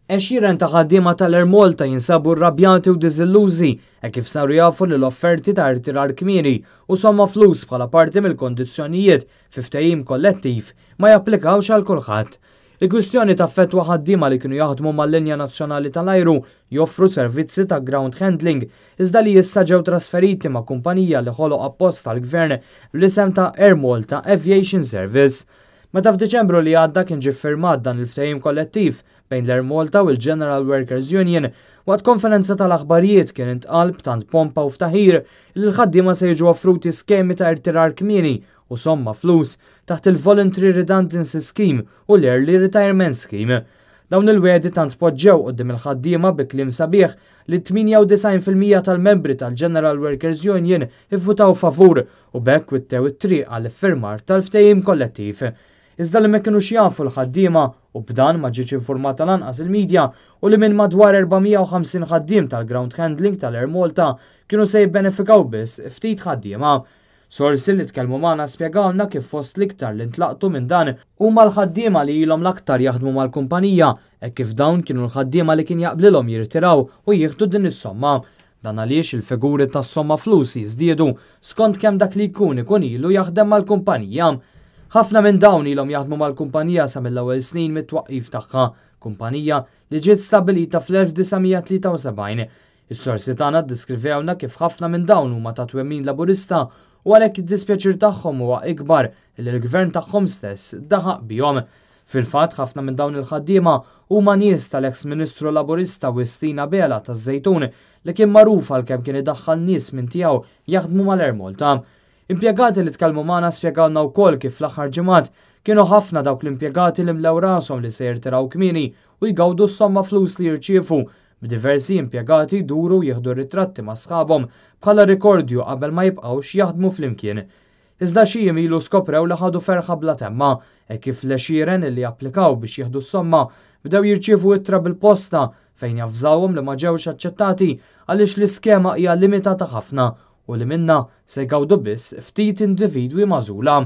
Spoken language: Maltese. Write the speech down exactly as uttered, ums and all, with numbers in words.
Għexieren ta' ħaddiema tal-Air Malta jinsabu rrabjati u diżillużi hekk kif saru jafu li l-offerti ta' irtirar kmieni u somma flus bħala parti mill-kondizzjonijiet fi ftehim kollettiv ma japplikawx għal kulħadd. Il-kwistjoni taffettwa ħaddiema li kienu jaħdmu mal-linja nazzjonali tal-ajru joffru servizzi ta' ground handling, iżda li issa ġew trasferiti ma' kumpanija li ħoloq apposta l-gvern bl-isem ta' Air Malta Aviation Service. Meta f'Diċembru li għadda kien ġie ffirmat dan il-ftehim kollettiv bejn l-Air Malta u l-General Workers Union, waqt konferenza tal-aħbarijiet kien intqal b'tant pompa u ftaħir li l-ħaddiema se jiġu offruti skemi ta' irtirar kmieni u somma flus taħt il-Voluntary Redundancy Scheme u l-Early Retirement Scheme. Dawn il-wegħdi tant poġġew quddiem il-ħaddiema bi kliem sabiħ li tmienja u disgħin fil-mija tal-membri tal-General Workers Union ivvutaw favur u b'hekk wittew it-triq għall-iffirmar tal-ftehim kollettiv. Iżda li ma kinux jafu l-ħaddiema, u b'dan ma ġietx informata lanqas il-medja, u li minn madwar erba' mija u ħamsin ħaddiem tal-ground handling tal-Air Malta kienu se jibbenefikaw biss ftit ħaddiema. Sorsi li tkellmu magħna spjegawna kif fost l-iktar li ntlaqtu minn dan huma l-ħaddiema li ilhom l-aktar jaħdmu mal-kumpanija, e kif dawn kienu l-ħaddiema li kien jaqblilhom jirtiraw u jieħdu din is-somma. Dan għaliex il-figuri tas-somma flus jiżdiedu skont kemm dak li jkun ikun ilu jaħdem mal-kumpanija. Ħafna minn dawn ilhom jaħdmu mal-kumpanija sa mill-ewwel snin mit-twaqqif tagħha, kumpanija li ġiet stabilita fl-elf disa' mija tlieta u sebgħin. Is-sorsi tagħna ddiskrivewna kif ħafna minn dawn huma ta' twemmin Laburista u għalhekk id-dispjaċir tagħhom huwa ikbar li l-gvern tagħhom stess daħaq bihom. Fil-fatt, ħafna minn dawn il-ħaddiema huma nies tal-eks Ministru Laburista Wistin Abela taż-Żejtun, li kien magħruf għal kemm kien idaħħal nies minn tiegħu jaħdmu mal-Air Malta. Impjegati li tkellmu magħna spjegawna wkoll kif fl-aħħar ġimgħat kienu ħafna dawk l-impjegati li mlew rashom li se jirtiraw kmieni u jgawdu s-somma flus li jirċievu, b'diversi impjegati jduru jieħdu ritratti ma' sħabhom bħala rikordju qabel ma jibqgħux jaħdmu flimkien. Iżda xi jiem ilu skoprew li ħadu ferħa bla temma e kif l-għexieren li applikaw biex jieħdu s-somma bdew jirċievu ittra bil-posta fejn javżawhom li ma ġewx aċċettati għaliex l-iskema hija limitata ħafna u li minna se jgawdu biss ftit individwi magħżula.